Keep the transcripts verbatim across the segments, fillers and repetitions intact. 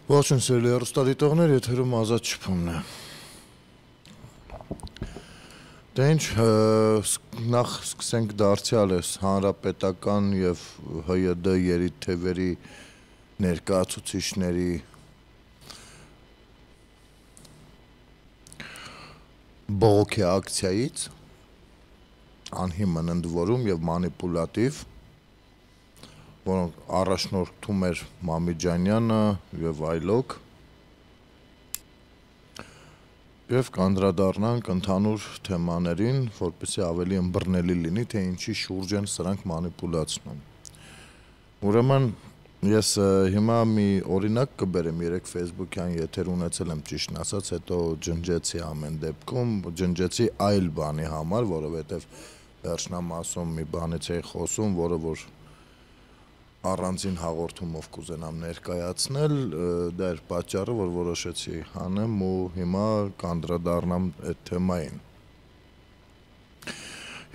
Ողջույն սիրելի հեռուստադիտողներ, եթերում Ազատ շփումն է։ Դե ինչ, նախ սկսենք դարձյալ էս հանրապետական եւ Հ Յ D երիթևերի ներկայացուցիչների բողոքի ակցիայից, անհիմն ընդ որում եւ մանիպուլատիվ, որոնք առաջնորդում էր Մամիջանյանը եւ այլոք, եւ կանդրադառնանք ընդհանուր թեմաներին, որպեսզի ավելի ըմբռնելի լինի, թե ինչի շուրջ են սրանք մանիպուլացնում։ Ուրեմն ես հիմա մի օրինակ կբերեմ, երեք Facebook-յան եթեր ունեցել եմ, ճիշտն ասած, հետո ջնջեցի ամեն դեպքում, ջնջեցի այլ բանի համար, որովհետեւ վերջնամասում մի բանից էի խոսում, որը որ առանձին հաղորդումով կուզենամ ներկայացնել, դա էր պատճառը, որ որոշեցի անեմ ու հիմա կանդրադառնամ այդ թեմային։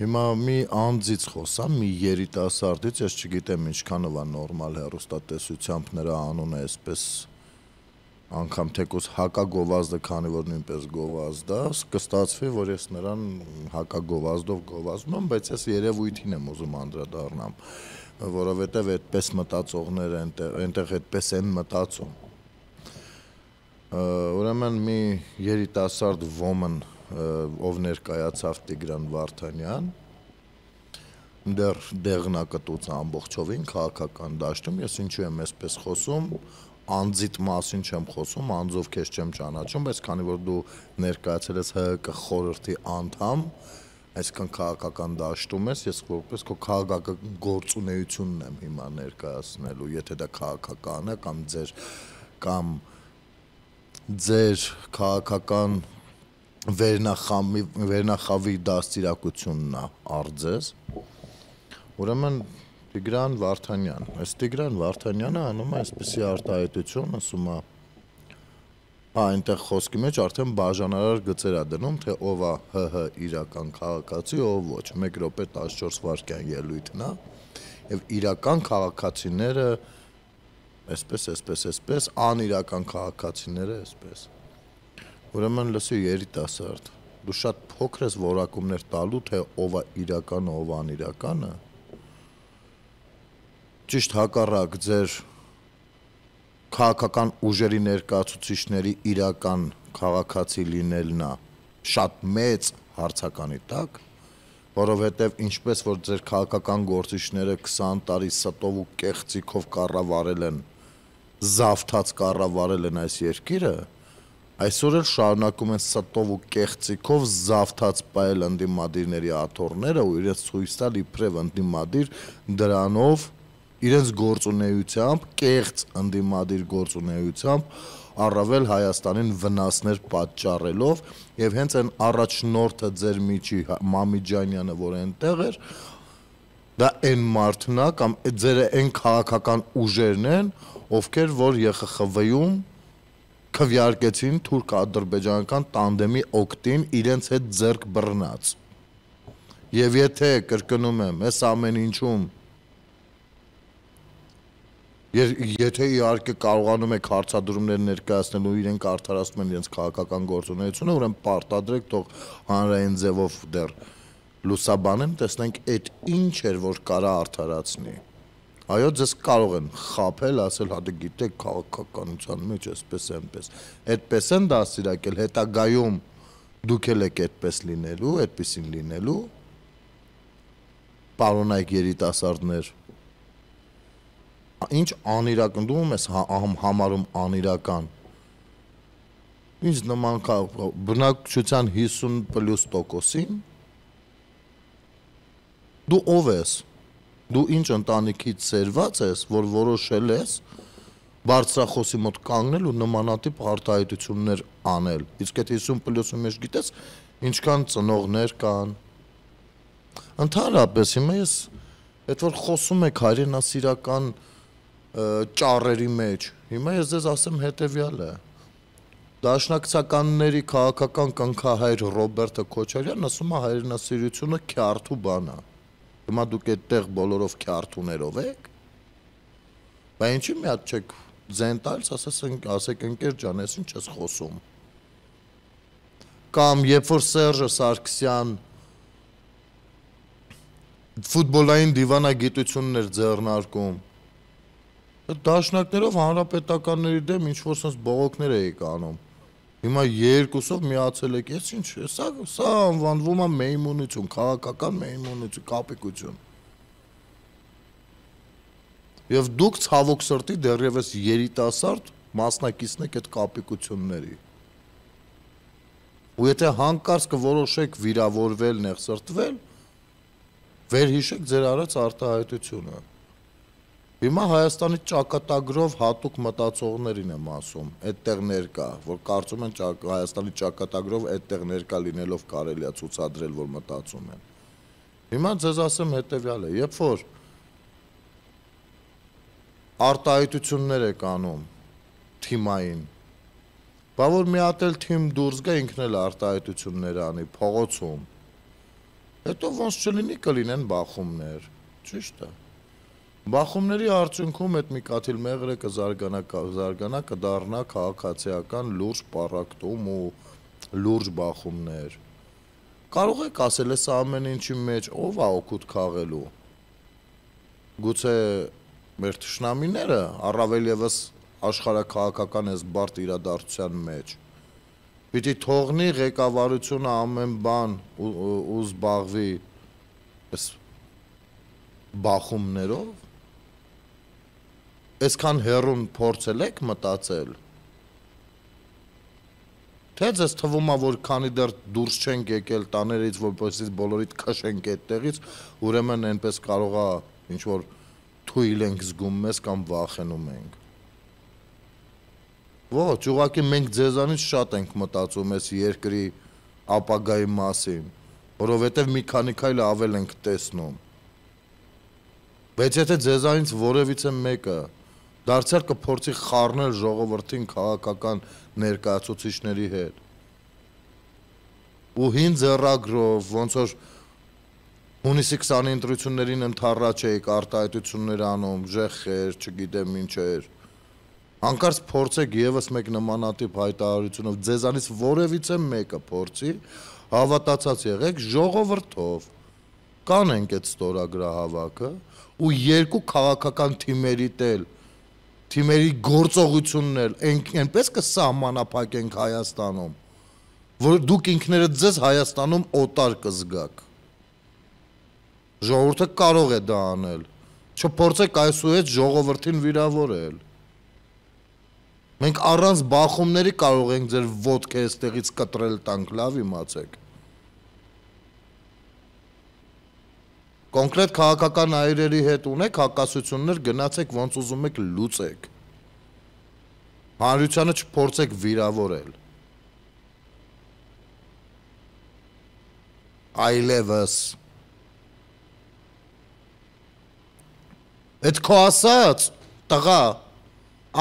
Հիմա մի անձից խոսամ, մի երիտասարդից, ես չգիտեմ ինչքանով է նորմալ հեռուստատեսությամբ նրա անունը այսպես անգամ թեկուզ հակագովազդը, քանի որ նույնպես գովազդ է, կստացվի, որ ես նրան հակագովազդով գովազդում եմ, բայց ես երևույթին եմ ուզում անդրադառնամ, որովհետև այդպես մտածողներ այնտեղ այդպես են մտածում։ Ուրեմն մի երիտասարդ ոմն, ով ներկայացավ Տիգրան Վարդանյան, դեռ դեղնակտուց ամբողջովին քաղաքական դաշտում, ես ինչու եմ այսպես խոսում, անձիդ մասին չեմ խոսում, անձով քեզ չեմ ճանաչում, բայց քանի որ դու ներկայացել ես Հ Կ խորհրդի անդամ, այսքան քաղաքական դաշտում ես, ես որպես քո քաղաքական գործունեությունն եմ հիմա ներկայացնելու, եթե դա քաղաքական է կամ ձեր կամ ձեր քաղաքական վերնախավի վերնախավի դաստիարակությունն է արձես։ Ուրեմն Տիգրան Վարդանյան, այս Տիգրան Վարդանյանը անում է այսպիսի արտահայտություն, ասում է, հա, այնտեղ խոսքի մեջ արդեն բաժանարար գծեր է դնում, թե ով է Հ Հ իրական քաղաքացի, ով ոչ, մեկ րոպե տասնչորս վայրկյան ելույթն է, եւ իրական քաղաքացիները այսպես, այսպես, այսպես, անիրական քաղաքացիները այսպես։ Ուրեմն լսի երիտասարդ, դու շատ փոքր ես որակումներ տալու, թե ով է իրականը, ով անիրականը։ Ճիշտ հակառակ ձեր քաղաքական ուժերի ներկայացուցիչների իրական քաղաքացի լինելն է շատ մեծ հարցականի տակ, որովհետև ինչպես որ ձեր քաղաքական գործիչները քսան տարի ստով ու կեղծիքով կառավարել են, զավթած կառավարել են այս երկիրը, այսօր էլ շարունակում են ստով ու կեղծիքով զավթած պայել ընդդիմադիրների աթոռները ու իրենց ցույց տալ իբրև ընդդիմադիր դրանով իրենց գործունեությամբ, կեղծ ընդդիմադիր գործունեությամբ առավել Հայաստանին վնասներ պատճառելով եւ հենց այն առաջնորդը ձեր միջի Մամիջանյանը, որ այնտեղ էր, դա այն մարդն է կամ ձեր այն քաղաքական ուժերն են, ովքեր որ Ե Խ Խ V-ում քվեարկեցին թուրք-ադրբեջանական տանդեմի օգտին իրենց հետ ձեռք բռնած։ Եվ եթե կրկնում եմ, այս ամեն ինչում Եթե իհարկե կարողանում եք հարցադրումներ ներկայացնել ու իրենք արդարացնում են իրենց քաղաքական գործունեությունը, ուրեմն պարտադրեք, թող հանրային ձևով դեռ լուսաբանեն, տեսնենք այդ ինչ էր, որ կարա արդարացնի։ Այո, ձեզ կարող են խաբել, ասել, հա դե գիտեք, քաղաքականության մեջ էսպես այնպես։ Այդպես են դաստիարակել, հետագայում դուք էլ եք այդպես լինելու, այդպեսին լինելու։ Պարոնայք երիտասարդներ, ինչ անիրական, դու ում ես համարում անիրական։ Ինչ նման բնակչության հիսուն պլյուս տոկոսին, դու ով ես, դու ինչ ընտանիքից սերված ես, որ որոշել ես բարձրախոսի մոտ կանգնել ու նմանատիպ արտահայտություններ անել, իսկ այդ հիսուն պլյուսի մեջ գիտես ինչքան ծնողներ կան։ Ընդհանրապես հիմա ես, այդ որ խոսում եք հայրենասիրական ճառերի մեջ, հիմա ես ձեզ ասեմ հետևյալը, դաշնակցականների քաղաքական կնքահայր Ռոբերտը Քոչարյանն ասում է հայրենասիրությունը քյարթու բան է, հիմա դուք այդտեղ բոլորով քյարթուներով եք, բայց ինչի մի հատ չեք ձեն տալիս, ասես ասեք ընկեր ջան, ես ինչ ես խոսում։ Կամ երբ որ Սերժը Սարգսյան ֆուտբոլային դիվանագիտություններ ձեռնարկում, դաշնակներով հանրապետականների դեմ ինչ-որ sense բողոքներ էի կանում։ Հիմա երկուսով միացել եք, ես ինչ, սա սա անվանվում է մեյմունություն, քաղաքական մեյմունություն, կապիկություն։ Եվ դուք ցավոք սրտի դեռևս երիտասարդ մասնակիցն եք այդ կապիկությունների։ Ու եթե հանկարծ կորոշեք վիրավորվել, նեղսրտվել, վերհիշեք ձեր արած արտահայտությունը։ Հիմա Հայաստանի ճակատագրով հատուկ մտածողներին եմ ասում, այդտեղ ներկա, որ կարծում են Հայաստանի ճակատագրով այդտեղ ներկա լինելով կարելի է ցուցադրել, որ մտածում են։ Հիմա ձեզ ասեմ հետևյալը, երբ որ արտահայտություններ եք անում թիմային, բա որ մի հատ էլ թիմ դուրս գա ինքն էլ արտահայտություններ անի փողոցում, հետո ոնց չլինի կլինեն բախումներ, ճիշտ է։ Բախումների արդյունքում այդ մի կաթիլ մեղրը կզարգանա, կզարգանա, կդառնա քաղաքացիական լուրջ պառակտում ու լուրջ բախումներ։ Կարող եք ասել, այս ամեն ինչի մեջ ով է օգուտ քաղելու։ Գուցե մեր թշնամիները, առավել ևս աշխարհաքաղաքական այս բարդ իրադարձության մեջ, պիտի թողնի ղեկավարությունը ամեն բան ու զբաղվի այս բախումներով։ Այսքան հեռուն փորձել եք մտածել։ Թե ձեզ թվում է, որ քանի դեռ դուրս չենք եկել տաներից, որպեսզի բոլորիդ քշենք այդտեղից, ուրեմն այնպես կարող է ինչ որ թույլ ենք զգում մեզ կամ վախենում ենք։ Ոչ, ուղղակի մենք ձեզանից շատ ենք մտածում այս երկրի ապագայի մասին, որովհետև մի քանի քայլ ավել ենք տեսնում։ Բայց եթե ձեզանից որևիցե մեկը դարձյալ կփորձի խառնել ժողովրդին քաղաքական ներկայացուցիչների հետ։ Ու հին ձեռագրով, ոնց որ հունիսի քսանի ընտրություններին ընդառաջ էիք արտահայտություններ անում, ժեխեր, չգիտեմ ինչեր։ Հանկարծ փորձեք եւս մեկ նմանատիպ հայտարարությունով ձեզանից որևիցե մեկը փորձի, հավատացած եղեք ժողովրդով։ Կանենք այդ ստորագրահավաքը ու երկու քաղաքական թիմերի տել թիմերի գործողություններ այնպես կսահմանափակենք Հայաստանում, որ դուք ինքներդ ձեզ Հայաստանում օտար կզգաք։ Ժողովուրդը կարող է դա անել, չփորձեք այսուհետ ժողովրդին վիրավորել։ Մենք առանց բախումների կարող ենք ձեր ոտքը այստեղից կտրել տանք, լավ իմացեք։ Կոնկրետ քաղաքական այրերի հետ ունեք հակասություններ, գնացեք ոնց ուզում եք լուծեք։ Հանրությանը չփորձեք վիրավորել։ Այլևս։ Այդ քո ասած տղա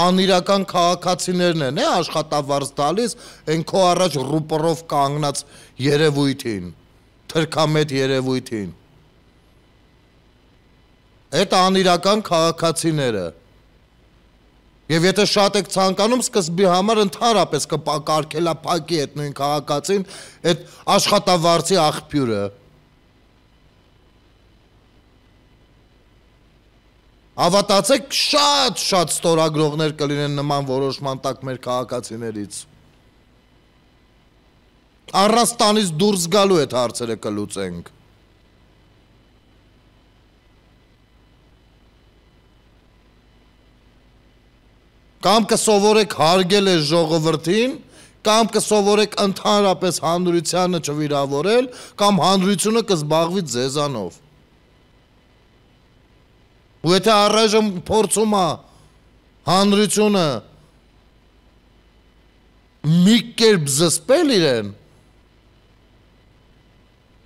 անիրական քաղաքացիներն են, է աշխատավարձ տալիս այն քո առաջ ռուպորով կանգնած երևույթին, թրքամետ երևույթին։ Այդ անիրական քաղաքացիները։ Եվ եթե շատ եք ցանկանում սկզբի համար ընդհանրապես կկարգելափակի այդ նույն քաղաքացին այդ աշխատավարձի աղբյուրը։ Հավատացեք, շատ-շատ ստորագրողներ կլինեն նման որոշման տակ մեր քաղաքացիներից։ Առանց տանից դուրս գալու այդ հարցերը կլուծենք։ Կամ կսովորեք հարգել է ժողովրդին, կամ կսովորեք ընդհանրապես հանրությանը չվիրավորել, կամ հանրությունը կզբաղվի ձեզանով։ Ու եթե առայժմ փորձում է հանրությունը մի կերպ զսպել իրեն,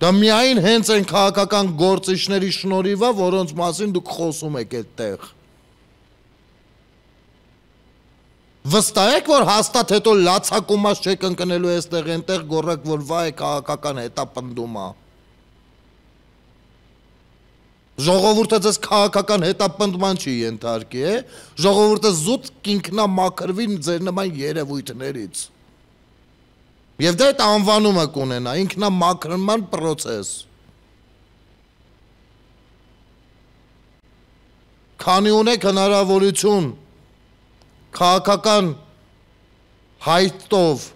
դա միայն հենց այն քաղաքական գործիչների շնորհիվ է, որոնց մասին դուք խոսում եք այդտեղ։ Վստահ եք, որ հաստատ հետո լացակումած չեք ընկնելու այստեղ այնտեղ գոռակ, որ վայ քաղաքական հետապնդում է։ Ժողովուրդը ձեզ քաղաքական հետապնդման չի ենթարկի, է, ժողովուրդը զուտ կինքնամաքրվի ձեր նման երևույթներից։ Եվ դա այդ անվանումը կունենա, ինքնամաքրման պրոցես։ Քանի ունեք հնարավորություն քաղաքական հայտով,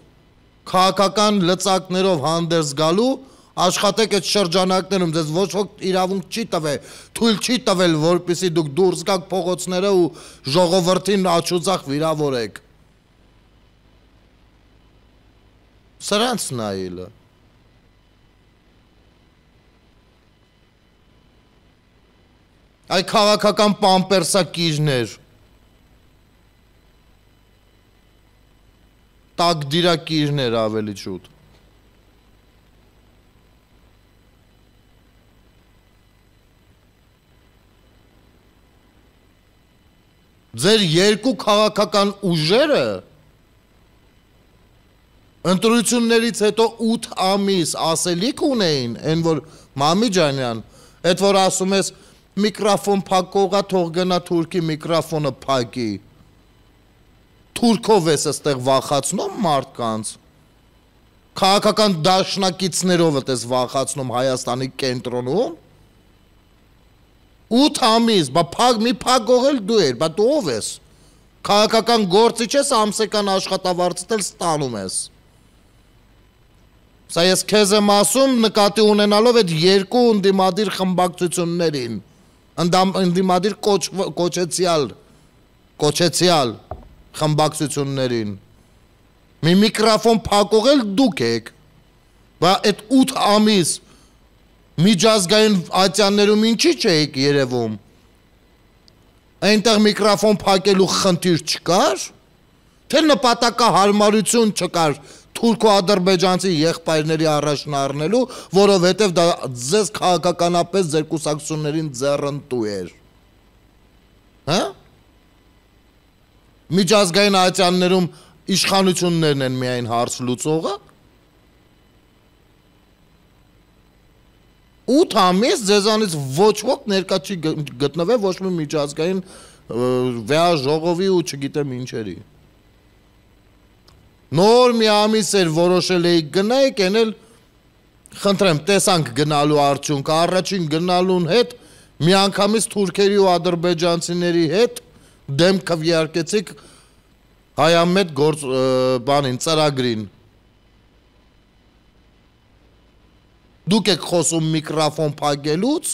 քաղաքական լծակներով հանդերձ գալու, աշխատեք այդ շրջանակներում, ձեզ ոչ ոք իրավունք չի տվել, թույլ չի տվել, որպեսզի դուք դուրս գաք փողոցները ու ժողովրդին աչուձախ վիրավորեք։ Սրանց նայելը։ Այ քաղաքական պամպերսակիրներ, տակդիրակիրներ ավելի շուտ։ Ձեր երկու քաղաքական ուժերը ընտրություններից հետո ութ ամիս ասելիք ունեին, այն որ Մամի ջանյան, այդ որ ասում ես միկրոֆոն փակողա թող գնա թուրքի միկրոֆոնը փակի։ Թուրքով ես այստեղ վախացնում մարդկանց։ Քաղաքական դաշնակիցներով ես վախացնում Հայաստանի կենտրոնում։ ութ ամիս, բա փակ մի փակողել դու ես, բա դու ով ես։ Քաղաքական գործիչ ես, ամսական աշխատավարձդ էլ ստանում ես։ Սա ես քեզ եմ ասում նկատի ունենալով այդ երկու ընդդիմադիր խմբակցություններին, ընդդիմադիր կոչեցյալ, կոչեցյալ խմբակցություններին։ Մի միկրոֆոն փակողել դուք եք, բա այդ ութ ամիս միջազգային ատյաններում ինչի չէիք երևում, այնտեղ միկրոֆոն փակելու խնդիր չկար, թե նպատակահարմարություն չկար թուրքո-ադրբեջանցի եղբայրների առաջն առնելու, որովհետև դա ձեզ քաղաքականապես ձեր կուսակցություններին ձեռնտու էր։ Հա? Միջազգային ատյաններում իշխանություններն են միայն հարց լուծողը։ ութ ամիս ձեզանից ոչ ոք ներկա չի գտնվել ոչ մի միջազգային վեաժողովի ու չգիտեմ ինչերի։ Նոր մի ամիս էր որոշել էիք գնայիք, են էլ խնդրեմ տեսանք գնալու արդյունքը, առաջին գնալուն հետ միանգամից թուրքերի ու ադրբեջանցիների հետ դեմ քվեարկեցիք հայամետ գործ բանին, ծրագրին։ Դուք եք խոսում միկրոֆոն փակելուց,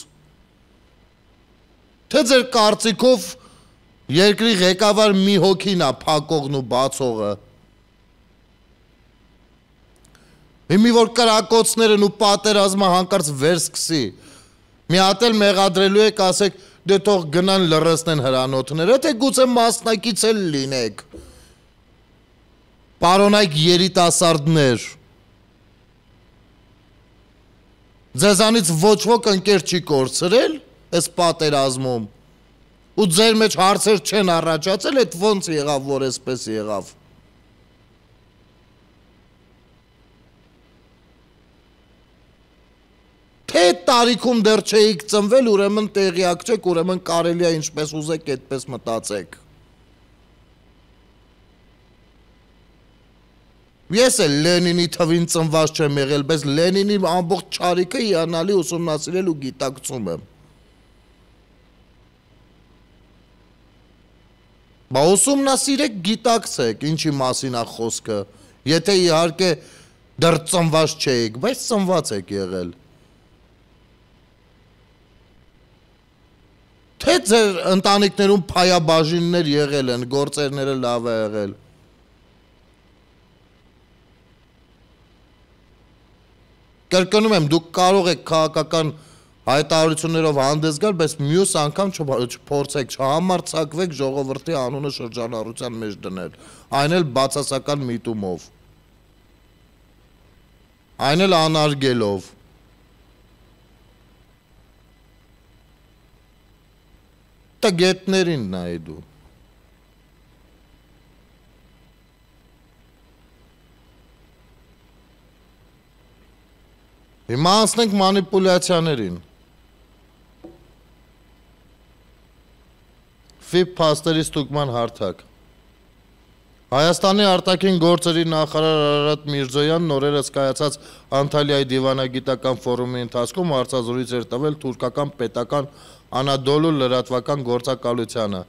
թե ձեր կարծիքով երկրի ղեկավար մի հոգին է փակողն ու բացողը։ Հիմի որ կրակոցներն ու պատերազմը հանկարծ վերսկսի, մի հատ էլ մեղադրելու եք, ասեք, դե թող գնան լռեցնեն հրանոթները, թե գուցե մասնակից էլ լինեք։ Պարոնայք երիտասարդներ, ձեզանից ոչ ոք ընկեր չի կորցրել այս պատերազմում ու ձեր մեջ հարցեր չեն առաջացել, այդ ոնց եղավ, որ այսպես եղավ։ Թե տարիքում դեռ չէիք ծնվել, ուրեմն տեղյակ չեք, ուրեմն կարելի է ինչպես ուզեք, այդպես մտածեք։ Ես էլ Լենինի թվին ծնված չեմ եղել, բայց Լենինի ամբողջ չարիքը հիանալի ուսումնասիրել ու գիտակցում եմ։ Բա ուսումնասիրեք, գիտակցեք, ինչի մասին է խոսքը, եթե իհարկե դեռ ծնված չէիք, բայց ծնված եք եղել։ Թե ձեր ընտանիքներում փայաբաժիններ եղել են, գործերները լավ է եղել։ Կրկնում եմ, դուք կարող եք քաղաքական հայտարարություններով հանդես գալ, բայց մյուս անգամ չփորձեք, չհամարձակվեք ժողովրդի անունը շրջանառության մեջ դնել, այն էլ բացասական միտումով, այն էլ անարգելով։ Տգետներին նայ դու։ Հիմա անցնենք մանիպուլյացիաներին։ Ֆիբ փաստերի ստուգման հարթակ։ Հայաստանի արտաքին գործերի նախարար Արարատ Միրզոյանն օրերս կայացած Անտալիայի դիվանագիտական ֆորումի ընթացքում հարցազրույց էր տվել թուրքական պետական Անադոլու լրատվական գործակալությանը,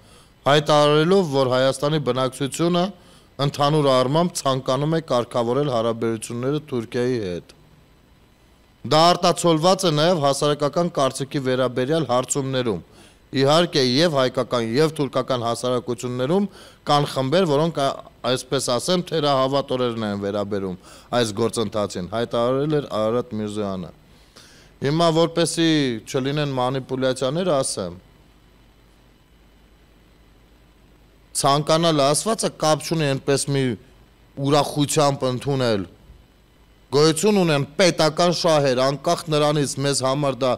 հայտարարելով, որ Հայաստանի բնակչությունը ընդհանուր առմամբ ցանկանում է կարգավորել հարաբերությունները Թուրքիայի հետ։ Դա արտացոլված է նաև հասարակական կարծիքի վերաբերյալ հարցումներում։ Իհարկե, եւ հայկական, եւ թուրքական հասարակություններում կան խմբեր, որոնք, այսպես ասեմ, թերահավատորեն են վերաբերում այս գործընթացին, հայտարարել էր Արարատ Միրզոյանը։ Հիմա, որպեսզի չլինեն մանիպուլյացիաներ, ասեմ, ցանկանալ ասվածը կապ չունի այնպես մի ուրախությամբ ընդունել։ Գոյություն ունեն պետական շահեր, անկախ նրանից մեզ համար դա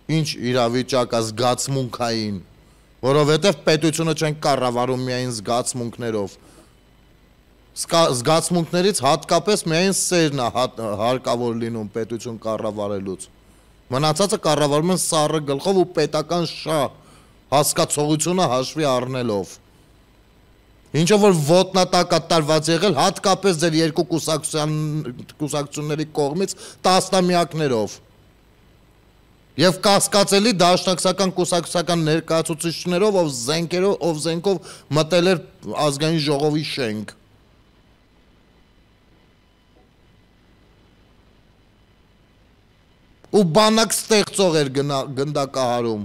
ինչ իրավիճակ է զգացմունքային, որովհետև պետությունը չեն կառավարում միայն զգացմունքներով։ Զգացմունքներից հատկապես միայն սերն է հարկավոր լինում պետություն կառավարելուց։ Մնացածը կառավարում են սառը գլխով ու պետական շահ հասկացողությունը հաշվի առնելով։ Ինչով որ ոտնատակ է տարված եղել հատկապես ձեր երկու կուսակցությունների կողմից տասնամյակներով։ Եվ կասկածելի դաշնակցական կուսակցական ներկայացուցիչներով, ով զենքերով, ով զենքով մտել էր ազգային ժողովի շենք։ Ու բանակ ստեղծող էր գնդակահարում։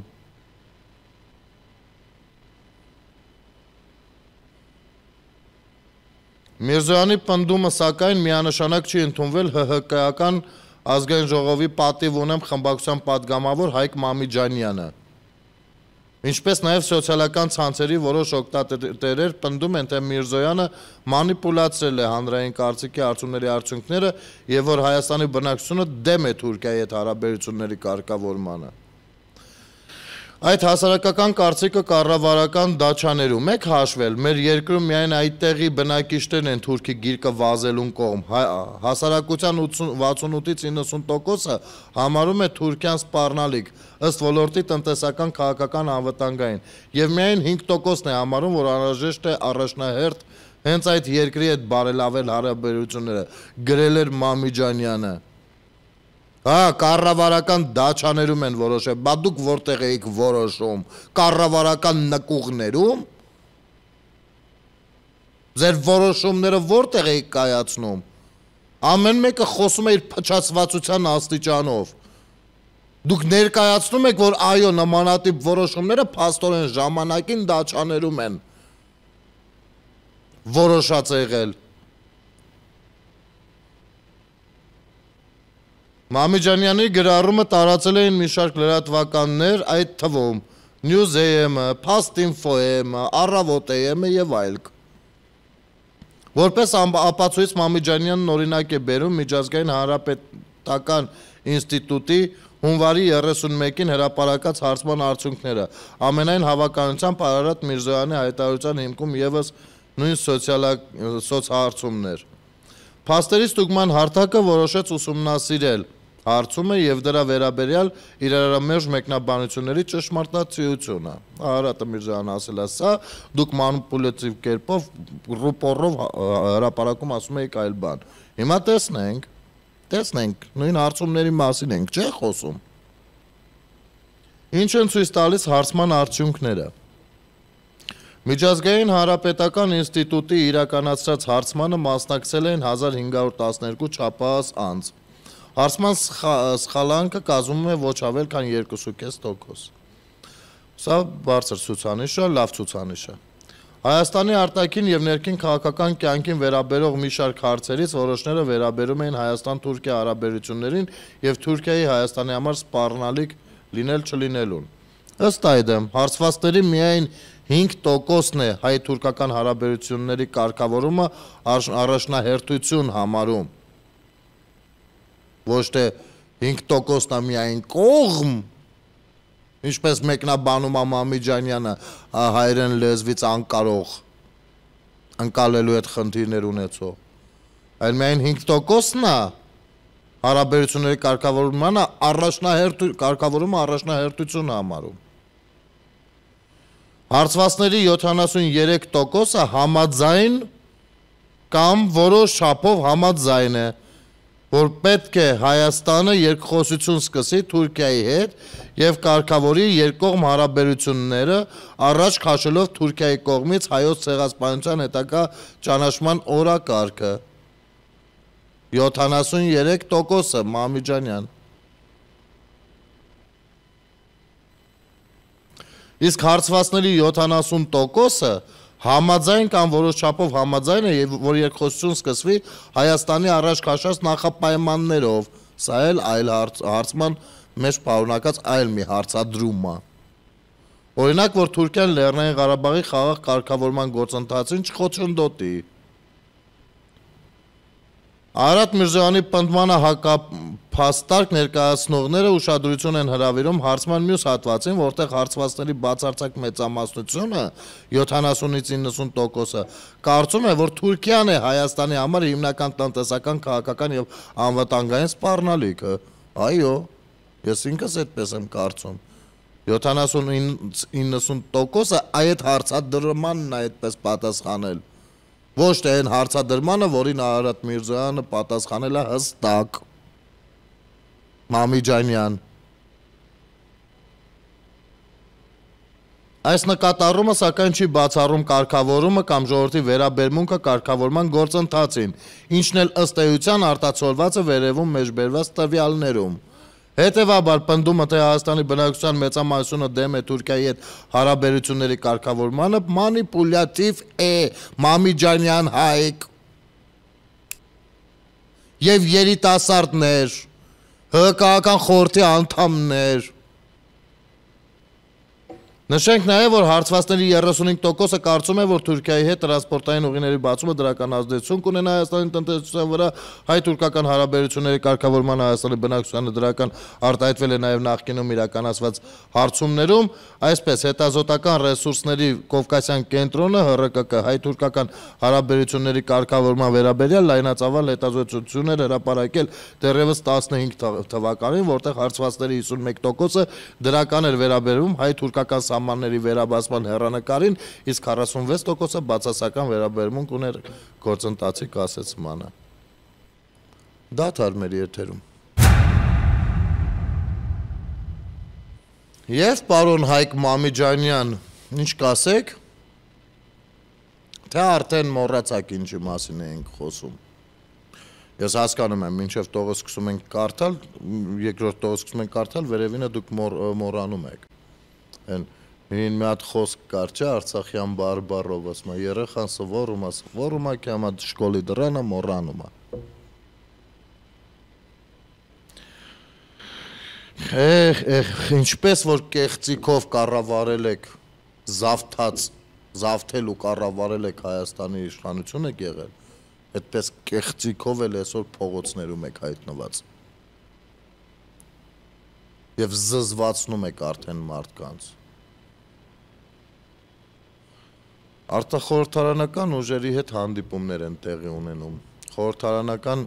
Միրզոյանի պնդումը սակայն միանշանակ չի ընդունվել ՀՀԿ-ական ազգային ժողովի պատիվ ունեմ խմբակցության պատգամավոր Հայկ Մամիջանյանը։ Ինչպես նաև սոցիալական ցանցերի որոշ օգտատերեր պնդում են, թե Միրզոյանը մանիպուլացրել է հանրային կարծիքի հարցումների արդյունքները եւ որ Հայաստանի բնակչությունը դեմ է Թուրքիայի հետ հարաբերությունների կարգավորմանը։ Այդ հասարակական կարծիքը կառավարական դաչաներում եք հաշվել, մեր երկրում միայն այդտեղի բնակիչներն են թուրքի գիրկը վազելուն կողմ, հասարակության վաթսունութից իննսուն տոկոսը համարում է Թուրքիան սպառնալիք, ըստ ոլորտի տնտեսական քաղաքական անվտանգային, եւ միայն հինգ տոկոսն է համարում, որ անհրաժեշտ է առաջնահերթ հենց այդ երկրի հետ բարելավել հարաբերությունները, գրել էր Մամիջանյանը։ Հա, կառավարական դաչաներում են որոշել, բա դուք որտեղ եք որոշում, կառավարական նկուղներում, ձեր որոշումները որտեղ եք կայացնում, ամեն մեկը խոսում է իր փչացվածության աստիճանով, դուք ներկայացնում եք, որ այո, նմանատիպ որոշումները փաստորեն ժամանակին դաչաներում են որոշած եղել։ Մամիջանյանի գրառումը տարածել էին մի շարք լրատվականներ, այդ թվում News A M-ը, Փաստ Ինֆո A M-ը, Առավոտ A M-ը եւ այլք։ Որպես ապացույց Մամիջանյանն օրինակ է բերում Միջազգային հանրապետական ինստիտուտի հունվարի երեսունմեկին հրապարակած հարցման արդյունքները, ամենայն հավանականությամբ Արարատ Միրզոյանի հայտարարության հիմքում եւս նույն սոցհարցումներ։ Փաստերի ստուգման հարթակը որոշեց ուսումնասիրել հարցումը եւ դրա վերաբերյալ իրարամերժ մեկնաբանությունների ճշմարտացիությունը։ Արարատը Միրզոյանը ասել է սա, դուք մանիպուլյատիվ կերպով ռուպորով հրապարակում ասում եք այլ բան։ Հիմա տեսնենք, տեսնենք, նույն հարցումների մասին ենք, չէ՞ խոսում։ Ինչ են ցույց տալիս հարցման արդյունքները։ Միջազգային հանրապետական ինստիտուտի իրականացրած հարցմանը մասնակցել են հազար հինգ հարյուր տասներկու չափահաս անձ։ Հարցման սխալանքը կազմում է ոչ ավել քան երկու կես տոկոս։ Սա բարձր ցուցանիշ է, լավ ցուցանիշ է։ Հայաստանի արտաքին եւ ներքին քաղաքական կյանքին վերաբերող մի շարք հարցերից որոշները վերաբերում էին Հայաստան-Թուրքիա հարաբերություններին եւ Թուրքիայի Հայաստանի համար սպառնալիք լինել չլինելուն։ Ըստ այդմ, հարցվածների միայն հինգ տոկոսն է հայ-թուրքական հարաբերությունների կարգավորումը առաջնահերթություն համարում։ Ոչ թե հինգ տոկոսն է միայն կողմ, ինչպես մեկնաբանում է Մամիջանյանը հայերեն լեզվից անկարող, ընկալելու հետ խնդիրներ ունեցող, այլ միայն հինգ տոկոսն է հարաբերությունների կարգավորումը առաջնահերթություն համարում։ Հարցվածների յոթանասունյերեք տոկոսը համաձայն կամ որոշ չափով համաձայն է, որ պետք է Հայաստանը երկխոսություն սկսի Թուրքիայի հետ եւ կարգավորի երկկողմ հարաբերությունները առաջ քաշելով Թուրքիայի կողմից հայոց ցեղասպանության հետագա ճանաչման օրակարգը։ յոթանասունյերեք տոկոսը Մամիջանյան։ Իսկ հարցվածների յոթանասուն տոկոսը համաձայն կամ որոշ չափով համաձայն է, որ երկխոսություն սկսվի Հայաստանի առաջ քաշած նախապայմաններով, սա էլ այլ հարցման մեջ պարունակած այլ մի հարցադրում է։ Օրինակ, որ Թուրքիան Լեռնային Ղարաբաղի խաղաղ կարգավորման գործընթացին չխոչընդոտի։ Արարատ Միրզոյանի պնդմանը հակափաստարկ ներկայացնողները ուշադրություն են հրավիրում հարցման մյուս հատվածին, որտեղ հարցվածների բացարձակ մեծամասնությունը յոթանասունից իննսուն տոկոսը կարծում է, որ Թուրքիան է Հայաստանի համար հիմնական տնտեսական, քաղաքական եւ անվտանգային սպառնալիքը։ Այո, ես ինքս այդպես եմ կարծում։ յոթանասունից իննսուն տոկոսը այդ հարցադրմանն է այդպես պատասխանել։ Ոչ թե այն հարցադրմանը, որին Արարատ Միրզոյանը պատասխանել է հստակ։ Մամիջանյան։ Այս նկատառումը սակայն չի բացառում կարգավորումը կամ ժողովրդի վերաբերմունքը կարգավորման գործընթացին, ինչն էլ ըստ էության արտացոլված է վերևում մեջբերված տվյալներում։ Հետևաբար պնդումը, թե Հայաստանի բնակչության մեծամասնությունը դեմ է Թուրքիայի հետ հարաբերությունների կարգավորմանը, մանիպուլյատիվ է, Մամիջանյան Հայկ։ Եվ երիտասարդներ, հղկական խորհրդի անդամներ։ Նշենք նաև, որ հարցվածների երեսունհինգ տոկոսը կարծում է, որ Թուրքիայի հետ տրանսպորտային ուղիների բացումը դրական ազդեցություն կունենա Հայաստանի տնտեսության վրա, հայ-թուրքական հարաբերությունների կարգավորման Հայաստանի բնակչությանը դրական արտահայտվել է նաև նախկինում իրականացված հարցումներում, այսպես հետազոտական ռեսուրսների Կովկասյան կենտրոնը Հ R K K հայ-թուրքական հարաբերությունների կարգավորման վերաբերյալ լայնածավալ հետազոտություններ հրապարակել դեռևս տասնհինգ թվականին, որտեղ հարցվածների հիսունմեկ տոկոսը դրական էր վերաբերվում հայ-թուրքական սահմանների վերաբացման հեռանկարին, իսկ քառասունվեց տոկոսը բացասական վերաբերմունք ուներ գործընթացի կասեցմանը։ Դադար մեր եթերում։ Եվ պարոն Հայկ Մամիջանյան, ինչ կասեք, թե արդեն մոռացաք ինչի մասին էինք խոսում։ Ես հասկանում եմ, մինչև տողը սկսում ենք կարդալ, երկրորդ տողը սկսում ենք կարդալ, վերևինը դուք մոռանում եք։ Այն Մին մի հատ խոսք կար, չէ, Արցախյան բարբառով, ասում է, երեխան սովորում է, սովորում է, կյամա շկոլի դրանը մոռանում է։ Էհ, էհ, ինչպես որ կեղծիքով կառավարել եք զավթած, զավթել ու կառավարել եք Հայաստանի իշխանություն եք եղել, այդպես կեղծիքով էլ այսօր փողոցներում եք հայտնված։ Եվ զզվացնում եք արդեն մարդկանց։ Արտախորհրդարանական ուժերի հետ հանդիպումներ են տեղի ունենում։ Խորհրդարանական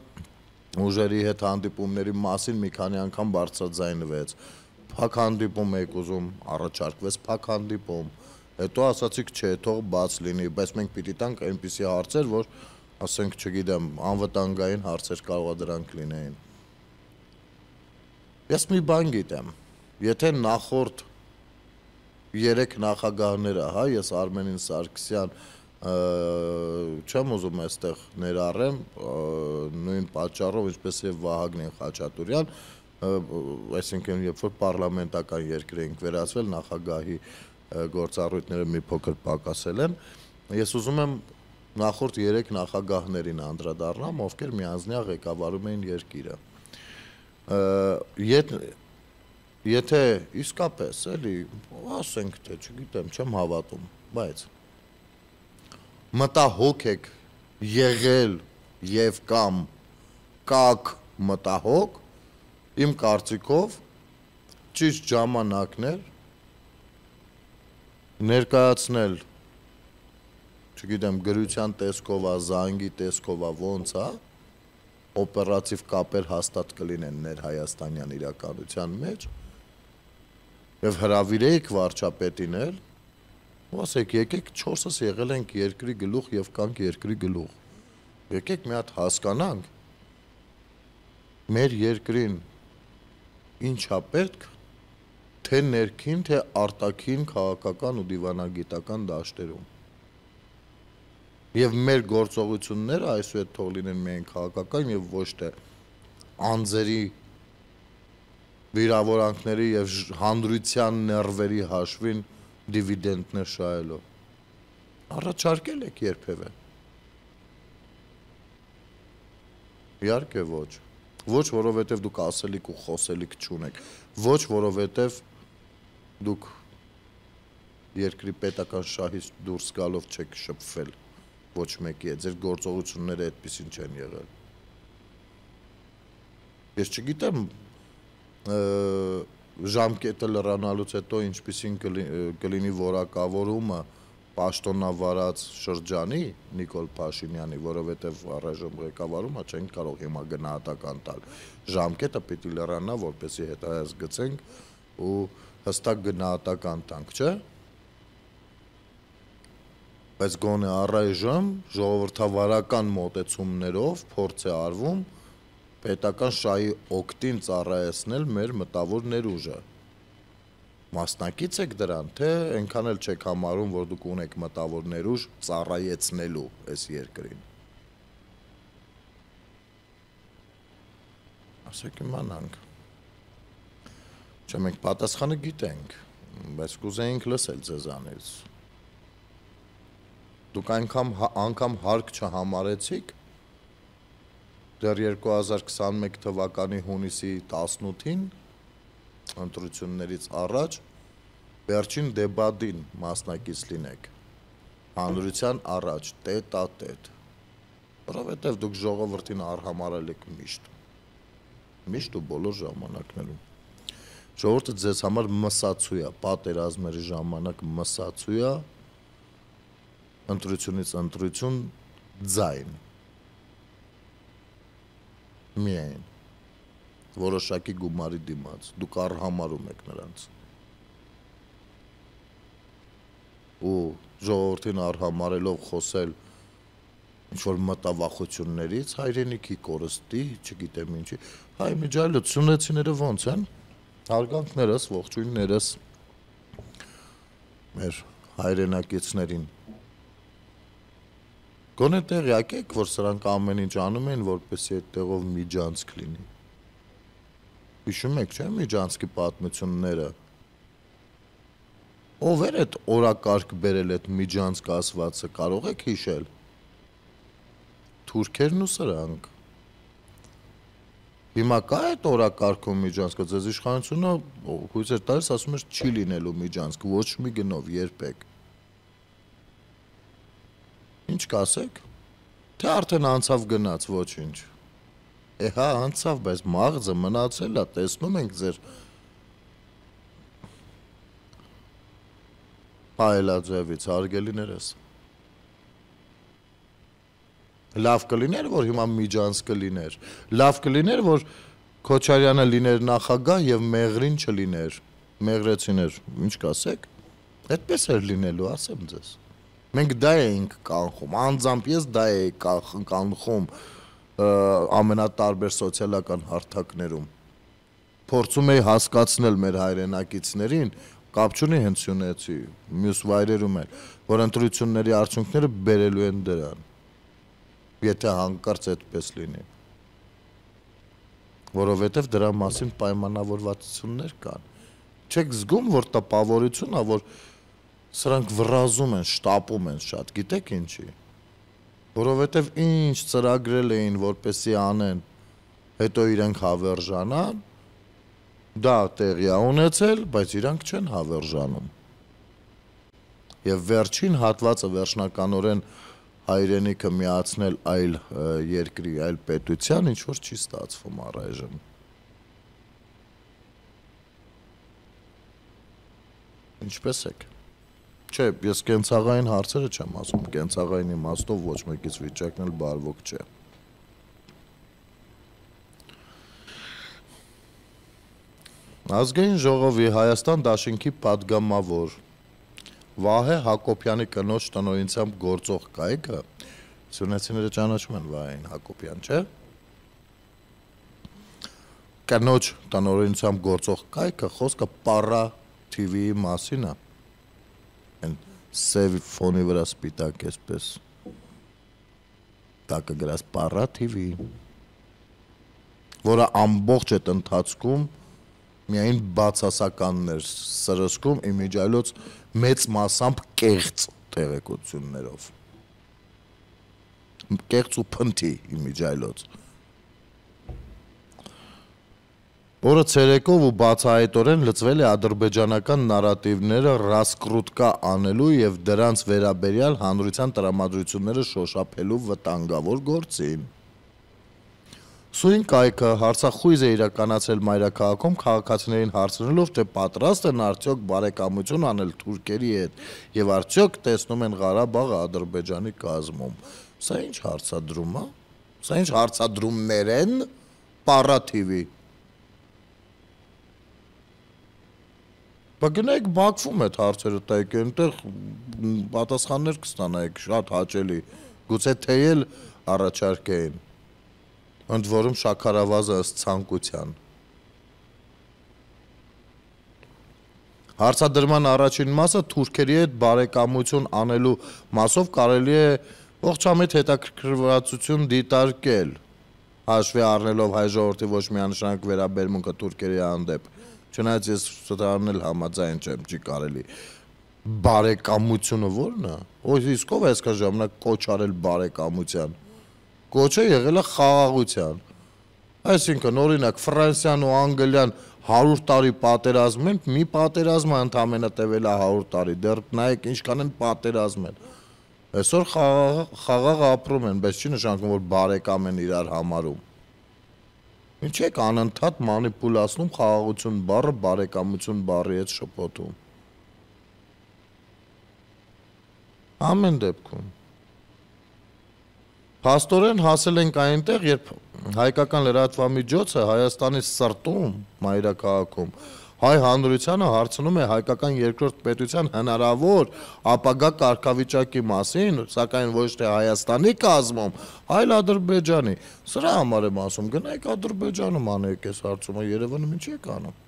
ուժերի հետ հանդիպումների մասին մի քանի անգամ բարձրաձայնվեց։ Փակ հանդիպում եք ուզում, առաջարկվեց փակ հանդիպում։ Հետո ասացիք, չէ, թող բաց լինի, բայց մենք պիտի տանք այնպիսի հարցեր, որ, ասենք, չգիտեմ, անվտանգային հարցեր կարող է դրանք լինեին։ Ես մի բան գիտեմ, եթե նախորդ երեք նախագահները, հա, ես Արմենին Սարգսյան չեմ ուզում այստեղ ներառեմ, նույն պատճառով, ինչպես եւ Վահագն Խաչատուրյան, այսինքն երբ որ պարլամենտական երկր ենք վերածվել, նախագահի գործառույթները մի փոքր պակասել են, ես ուզում եմ նախորդ երեք նախագահներին անդրադառնամ, ովքեր միանձնյա ղեկավարում էին երկիրը։ Եթե իսկապես, էլի, ասենք թե, չգիտեմ, չեմ հավատում, բայց մտահոգ եք եղել եւ կամ կակ մտահոգ, իմ կարծիքով ճիշտ ժամանակն էր ներկայացնել, չգիտեմ, գրության տեսքով, զանգի տեսքով, ոնց է, օպերատիվ կապեր հաստատ կլինեն ներհայաստանյան իրականության մեջ եւ հրավիրեիք վարչապետին էլ Ասեք, եկեք չորսս եղել ենք երկրի գլուխ եւ կանք երկրի գլուխ։ Եկեք մի հատ հասկանանք մեր երկրին ինչա պետք, թե ներքին, թե արտաքին քաղաքական ու դիվանագիտական դաշտերում։ Եվ մեր գործողությունները այսուհետ թող լինեն միայն քաղաքական եւ ոչ թե անձերի վիրավորանքների եւ հանրության ներվերի հաշվին դիվիդենտներ շահելով։ Առաջարկել եք երբևէ։ Իհարկե ոչ։ Ոչ, որովհետև դուք ասելիք ու խոսելիք չունեք։ Ոչ, որովհետև դուք երկրի պետական շահից դուրս գալով չեք շփվել ոչ մեկի հետ, ձեր գործողությունները այդպեսին չեն եղել։ Ես չգիտեմ ժամկետը լրանալուց հետո ինչպեսին կլինի որակավորումը պաշտոնավարած շրջանի Նիկոլ Փաշինյանի, որովհետև առայժմ ղեկավարումը չենք կարող հիմա գնահատական տալ։ Ժամկետը պիտի լրանա, որպեսզի հետայաց գցենք ու հստակ գնահատական տանք, չէ՞։ Բայց գոնե առայժմ ժողովրդավարական մոտեցումներով փորձ է արվում պետական շահի օգտին ծառայեցնել մեր մտավոր ներուժը։ Մասնակից եք դրան, թե այնքան էլ չեք համարում, որ դուք ունեք մտավոր ներուժ ծառայեցնելու այս երկրին։ Ասեք իմանանք։ Չէ, մենք պատասխանը գիտենք, բայց կուզեինք լսել ձեզանից։ Դուք անգամ անգամ հարկ չհամարեցիք դեռ երկու հազար քսաներեք թվականի հունիսի տասնութին ընտրություններից առաջ վերջին դեբատին մասնակից լինեք հանրության առաջ տետ-ա-տետ, որովհետև դուք ժողովրդին արհամարել եք միշտ միշտ ու բոլոր ժամանակներում ժողովուրդը ձեզ համար մսացու է, պատերազմների ժամանակ մսացու է, ընտրությունից ընտրություն ձայն միայն որոշակի գումարի դիմաց, դուք արհամարում եք նրանց ու ժողովրդին արհամարելով խոսել ինչ-որ մտավախություններից, հայրենիքի կորստի, չգիտեմ ինչի, հայ միջայլոց սյունեցիները ոնց են, հարգանքներս, ողջույններս մեր հայրենակիցներին Գոնե տեղյակ եք, որ սրանք ամեն ինչ անում են, որպեսզի այդ տեղով միջանցք լինի։ Հիշում եք, չէ՞, միջանցքի պատմությունները։ Ով էր այդ օրակարգ բերել այդ միջանցք ասվածը, կարող եք հիշել։ Թուրքերն ու սրանք։ Հիմա կա այդ օրակարգում միջանցքը, ձեզ իշխանությունը հույս էր տալիս, ասում էր չի լինելու միջանցք, ոչ մի գնով, երբեք։ Ինչ կասեք, թե արդեն անցավ գնաց, ոչինչ, է հա անցավ, բայց մաղձը մնացել է, տեսնում ենք ձեր հայելաձևից, հարգելիներս, լավ կլիներ, որ հիմա միջանց կլիներ, լավ կլիներ, որ Քոչարյանը լիներ նախագահ և Մեղրին չլիներ, Մեղրեցիներ, ինչ կասեք, այդպես էր լինելու, ասեմ ձեզ Մենք դա էինք կանխում, անձամբ ես դա էի կանխում ամենատարբեր սոցիալական հարթակներում։ Փորձում էի հասկացնել մեր հայրենակիցներին, կապ չունի հենց սյունեցի, մյուս վայրերում էլ, որ ընտրությունների արդյունքները բերելու են դրան, եթե հանկարծ այդպես լինի։ Որովհետև դրա մասին պայմանավորվածություններ կան։ Չեք զգում, որ տպավորություն է, որ Սրանք վռազում են, շտապում են շատ, գիտեք ինչի, որովհետև ինչ ծրագրել էին, որպեսի անեն, հետո իրենք հավերժանան, դա տեղի է ունեցել, բայց իրանք չեն հավերժանում։ Եվ վերջին հատվածը վերջնականորեն հայրենիքը միացնել այլ երկրի, այլ պետության, ինչ որ չի ստացվում առայժմ։ Ինչպես եք։ Չէ, ես կենցաղային հարցերը չեմ ասում, կենցաղային իմաստով ոչ մեկից վիճակն էլ բարվոք չէ։ Ազգային ժողովի Հայաստան դաշինքի պատգամավոր Վահե Հակոբյանի կնոջ տնօրինությամբ գործող կայքը, սյունեցիները ճանաչում են Վահեին Հակոբյան, չէ՞։ Կնոջ տնօրինությամբ գործող կայքը խոսքը Պարա թի վիի մասին է։ Այն սև ֆոնի վրա սպիտակ էսպես։ Տակը գրած Պարա թի վի, որը ամբողջ այդ ընթացքում միայն բացասականներ սրսկում իմիջիայլոց մեծ մասամբ կեղծ տեղեկություններով։ Կեղծ ու փնթի իմիջիայլոց։ Որը ցերեկով ու բացահայտորեն լծվել է ադրբեջանական նարատիվները ռասկրուտկա անելու եւ դրանց վերաբերյալ հանրության տրամադրությունները շոշափելու վտանգավոր գործին։ Սույն կայքը հարցախույզ է իրականացել մայրաքաղաքում քաղաքացիներին հարցնելով, թե պատրաստ են արդյոք բարեկամություն անել թուրքերի հետ եւ արդյոք տեսնում են Ղարաբաղը Ադրբեջանի կազմում։ Սա ինչ հարցադրում է։ Սա ինչ հարցադրումներ են Պարա թի վի։ Բա գնայք Բաքվում այդ հարցերը տայք, այնտեղ պատասխաններ կստանայիք շատ հաճելի, գուցե թեյել առաջարկեին։ Ընդ որում շաքարավազը ըստ ցանկության։ Հարցադրման առաջին մասը թուրքերի հետ բարեկամություն անելու մասով կարելի է ողջամիտ հետաքրքրվածություն դիտարկել, հաշվի առնելով հայ ժողովրդի ոչ միանշանակ վերաբերմունքը թուրքերի հանդեպ, չնայած ես սրտանն էլ համաձայն չեմ, չի կարելի։ Բարեկամությունը ո՞րն է։ Ո՞й իսկ ով է այսքան ժամանակ կոչ արել բարեկամության։ Կոչը եղել է խաղաղության։ Այսինքն, օրինակ, Ֆրանսիան ու Անգլիան հարյուր տարի պատերազմ են, մի պատերազմը ընդամենը տևել է հարյուր տարի, դեռ նայեք ինչքան են պատերազմել։ Այսօր խաղաղ ապրում են, բայց չի նշանակում, որ բարեկամ են իրար համարում։ Ինչ եք անընդհատ մանիպուլացնում խաղաղություն բառը բարեկամություն բառի հետ շփոթում։ Ամեն դեպքում։ Փաստորեն հասել ենք այնտեղ, երբ հայկական լրատվամիջոցը Հայաստանի սրտում, մայրաքաղաքում, հայ հանրությանը հարցնում է հայկական երկրորդ պետության հնարավոր ապագա կարգավիճակի մասին, սակայն ոչ թե Հայաստանի կազմում, այլ Ադրբեջանի։ Սրա համար եմ ասում, գնայք Ադրբեջանում անեք այս հարցումը, Երևանում ինչ եք անում։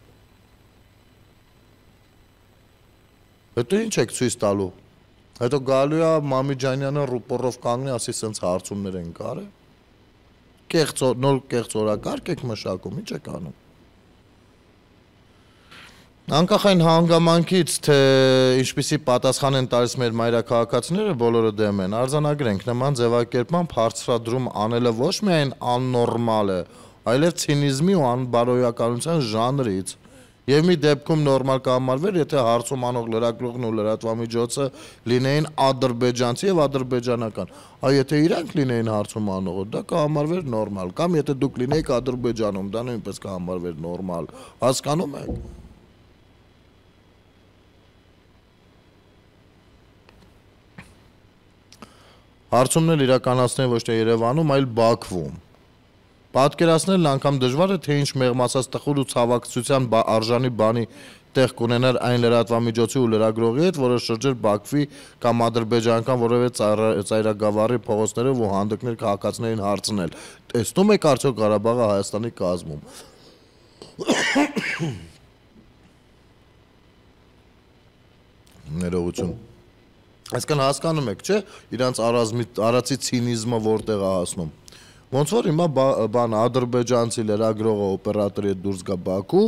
Հետո ինչ եք ցույց տալու։ Հետո գալու է Մամիջանյանը ռուպորով կանգնի, ասի սենց հարցումներ են կարել։ Կեղծ նոր կեղծ օրակարգ եք մշակում, ինչ եք անում։ Անկախ այն հանգամանքից, թե ինչպիսի պատասխան են տալիս մեր մայրաքաղաքացիները, բոլորը դեմ են, արձանագրենք նման ձևակերպմամբ հարցրադրում անելը ոչ միայն աննորմալ է, այլև ցինիզմի ու անբարոյականության ժանրից։ Եվ մի դեպքում նորմալ կհամարվեր, եթե հարցում անող լրագրողն ու լրատվամիջոցը լինեին ադրբեջանցի եւ ադրբեջանական։ Այ եթե իրանք լինեին հարցում անողը, դա կհամարվեր նորմալ, կամ եթե դուք լինեիք Ադրբեջանում, դա նույնպես կհամարվեր նորմալ։ Հասկանում եք։ Հարցումներ իրականացնել ոչ թե Երևանում, այլ Բաքվում։ Պատկերացնելն անգամ դժվար է, թե ինչ մեղմացած տխուր ու ցավակցության արժանի բանի տեղ կունենար այն լրատվամիջոցի ու լրագրողի հետ, որը շրջեր Բաքվի կամ ադրբեջանական որևէ ծայրագավառի փողոցներով ու հանդգներ քաղաքացիներին հարցնել. տեսնում եք արդյոք Ղարաբաղը Հայաստանի կազմում։ Ներողություն։ Այսքան հասկանում եք, չէ՞, իրանց արածի ցինիզմը որտեղ է հասնում։ Ոնց որ հիմա բան ադրբեջանցի լրագրողը օպերատորի հետ դուրս գա Բաքու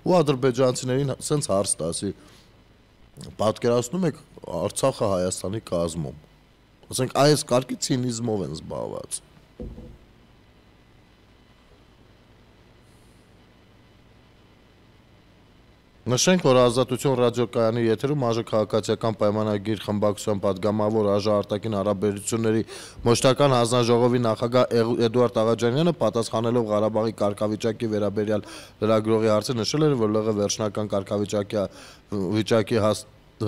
ու ադրբեջանցիներին սենց հարց տասի. պատկերացնում եք Արցախը Հայաստանի կազմում։ Ասենք այս կարգի ցինիզմով են զբաղված։ Նշենք, որ Ազատություն ռադիոկայանի եթերում ԱԺ քաղաքացիական պայմանագիր խմբակցության պատգամավոր ԱԺ արտաքին հարաբերությունների մշտական հանձնաժողովի նախագահ Էդուարդ Աղաջանյանը պատասխանելով Ղարաբաղի կարգավիճակի վերաբերյալ լրագրողի հարցը նշել էր, որ ԼՂ վերջնական կարգավիճակի վիճակի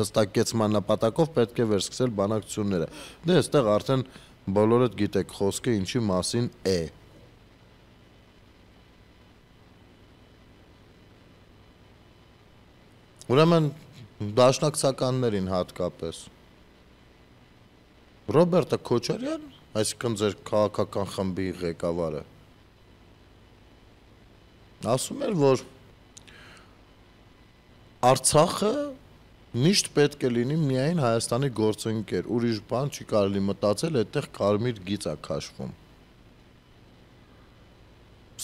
հստակեցման նպատակով պետք է վերսկսել բանակցությունները։ Դե այստեղ արդեն բոլորդ գիտեք խոսքը ինչի մասին է։ Ուրեմն Դաշնակցականներին հատկապես։ Ռոբերտը Քոչարյան, այսինքն ձեր քաղաքական խմբի ղեկավարը, ասում էր, որ Արցախը միշտ պետք է լինի միայն Հայաստանի գործընկեր, ուրիշ բան չի կարելի մտածել, այդտեղ կարմիր գիծ է քաշվում։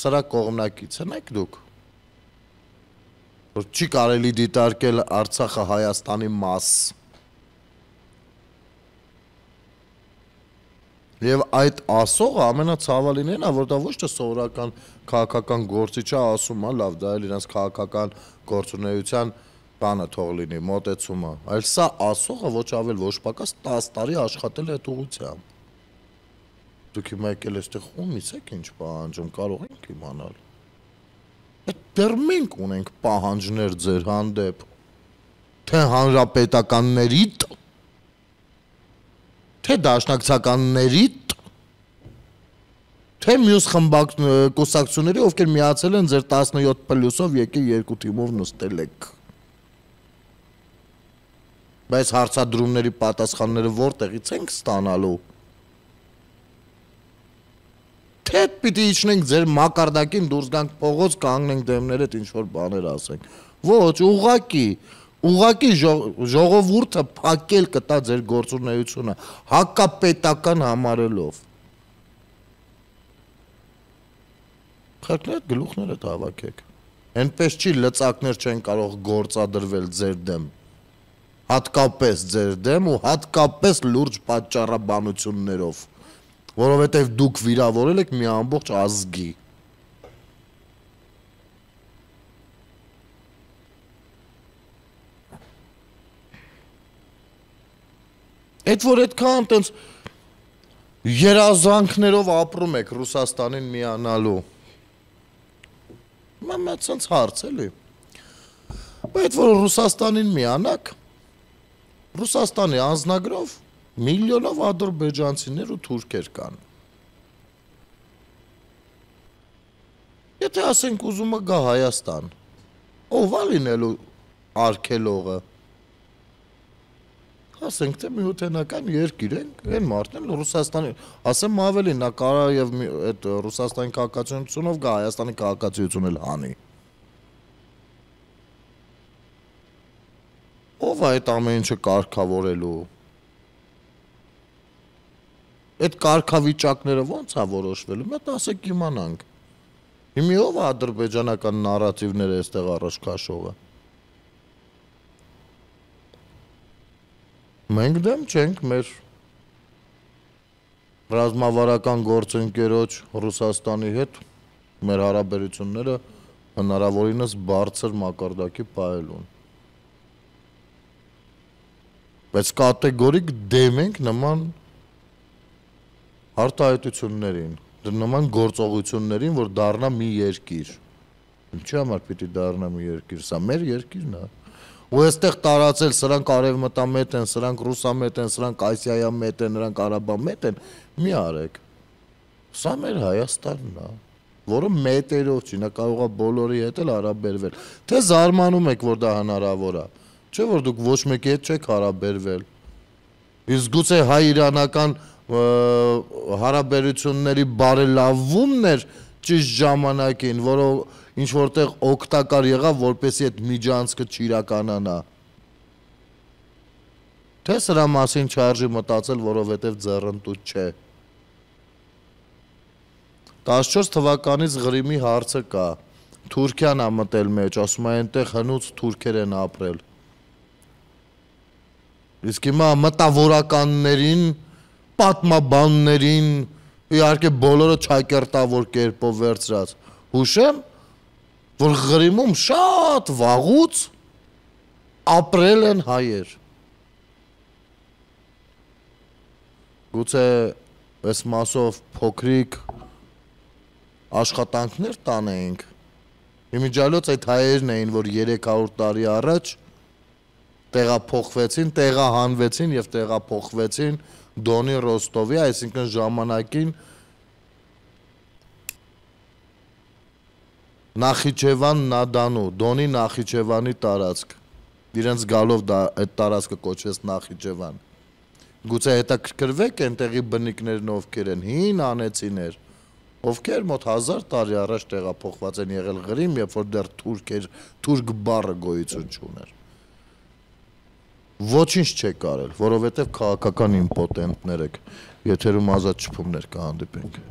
Սրա կողմնակից եք դուք։ Որ չի կարելի դիտարկել Արցախը Հայաստանի մաս։ Եվ այդ ասողը ամենացավալին է, որ դա ոչ թե սովորական քաղաքական գործիչ է ասում, լավ, դա էլ իրենց քաղաքական գործունեության բանը թող լինի, մոտեցումը, այլ սա ասողը ոչ ավել ոչ պակաս տասը տարի աշխատել է այդ ուղղությամբ։ Դուք հիմա եկել այստեղ ումից եք ինչ պահանջում, կարող ենք իմանալ։ Այդ դեռ մենք ունենք պահանջներ ձեր հանդեպ, թե հանրապետականներիդ, թե դաշնակցականներիդ, թե մյուս խմբակ կուսակցությունների, ովքեր միացել են ձեր տասնյոթ պլյուսով եկել երկու թիմով նստել եք։ Բայց հարցադրումների պատասխանները որտեղից ենք ստանալու։ Թե պիտի իջնենք ձեր մակարդակին դուրս գանք փողոց, կանգնենք դեմներդ ինչ-որ բաներ ասենք։ Ոչ, ուղղակի, ուղղակի ժողովուրդը փակել կտա ձեր գործունեությունը, հակապետական համարելով։ Խելքներդ գլուխներդ հավաքեք։ Էնպես չի լծակներ չեն կարող գործադրվել ձեր դեմ։ Հատկապես ձեր դեմ ու հատկապես լուրջ պատճառաբանություններով, որովհետև դուք վիրավորել եք մի ամբողջ ազգի։ Այդ որ այդքան տենց երազանքներով ապրում եք Ռուսաստանին միանալու։ Մամա ցած հարց էլի։ Բայց որ Ռուսաստանին միանաք, Ռուսաստանի անձնագրով միլիոնով ադրբեջանցիներ ու թուրքեր կան։ Եթե ասենք ուզում է գա Հայաստան, ով է լինելու արգելողը։ Ասենք թե միութենական երկիր ենք, այն մարդն էլ Ռուսաստանի, ասեմ ավելի, նա կարա եւ այդ Ռուսաստանի քաղաքացիությունով գա Հայաստանի քաղաքացիություն էլ հանի։ Ով է այդ ամեն ինչը կարգավորելու։ Այդ կարգավիճակները ո՞նց է որոշվելու, մենք ասեք իմանանք։ Հիմի ով է ադրբեջանական նարատիվները այստեղ առաջ քաշողը։ Մենք դեմ չենք մեր ռազմավարական գործընկերոջ Ռուսաստանի հետ մեր հարաբերությունները հնարավորինս բարձր մակարդակի պահելուն։ Բայց կատեգորիկ դեմ ենք նման արտահայտություններին, նման գործողություններին, որ դառնա մի երկիր։ Ինչի համար պիտի դառնա մի երկիր, սա մեր երկիրն է։ Ու այստեղ տարածել սրանք արևմտամետ են, սրանք ռուսամետ են, սրանք ասիայամետ են, նրանք արաբամետ են, մի արեք։ Սա մեր Հայաստանն է, որը մետերով չի, նա կարող է բոլորի հետ էլ հարաբերվել։ Թե զարմանում եք, որ դա հնարավոր է, չէ՞ որ դուք ոչ մեկի հետ չեք հարաբերվել։ Իսկ գուցե հայ-իրանական հարաբերությունների բարելավումն էր ճիշտ ժամանակին, որը ինչ որտեղ օգտակար եղավ, որպեսզի այդ միջանցքը չիրականանա։ Թե սրա մասին չարժի մտածել, որովհետև ձեռնտուտ չէ։ տասնչորս թվականից Ղրիմի հարցը կա, Թուրքիան է մտել մեջ, ասում է այնտեղ հնուց թուրքեր են ապրել։ Իսկ հիմա մտավորականներին, պատմաբաններին, իհարկե բոլորը չակերտավոր կերպով վերցրած, հուշեմ, որ Ղրիմում շատ վաղուց ապրել են հայեր։ Գուցե այս մասով փոքրիկ աշխատանքներ տանեինք։ Իմիջիալոց այդ հայերն էին, որ երեք հարյուր տարի առաջ տեղափոխվեցին, տեղահանվեցին եւ տեղափոխվեցին Դոնի Ռոստովի, այսինքն ժամանակին Նախիջևան Նադանու, Դոնի Նախիջևանի տարածք։ իրենց գալով դա այդ տարածքը կոչվեց Նախիջևան։ Գուցե հետաքրքրվեք այնտեղի բնիկներն ովքեր են, հին անեցիներ, ովքեր մոտ հազար տարի առաջ տեղափոխված են եղել Ղրիմ, երբ որ դեռ թուրքեր, թուրք բառը գոյություն չուներ։ Ոչինչ չեք արել, որովհետև քաղաքական իմպոտենտներ եք, եթերում ազատ շփումներ կհանդիպենք։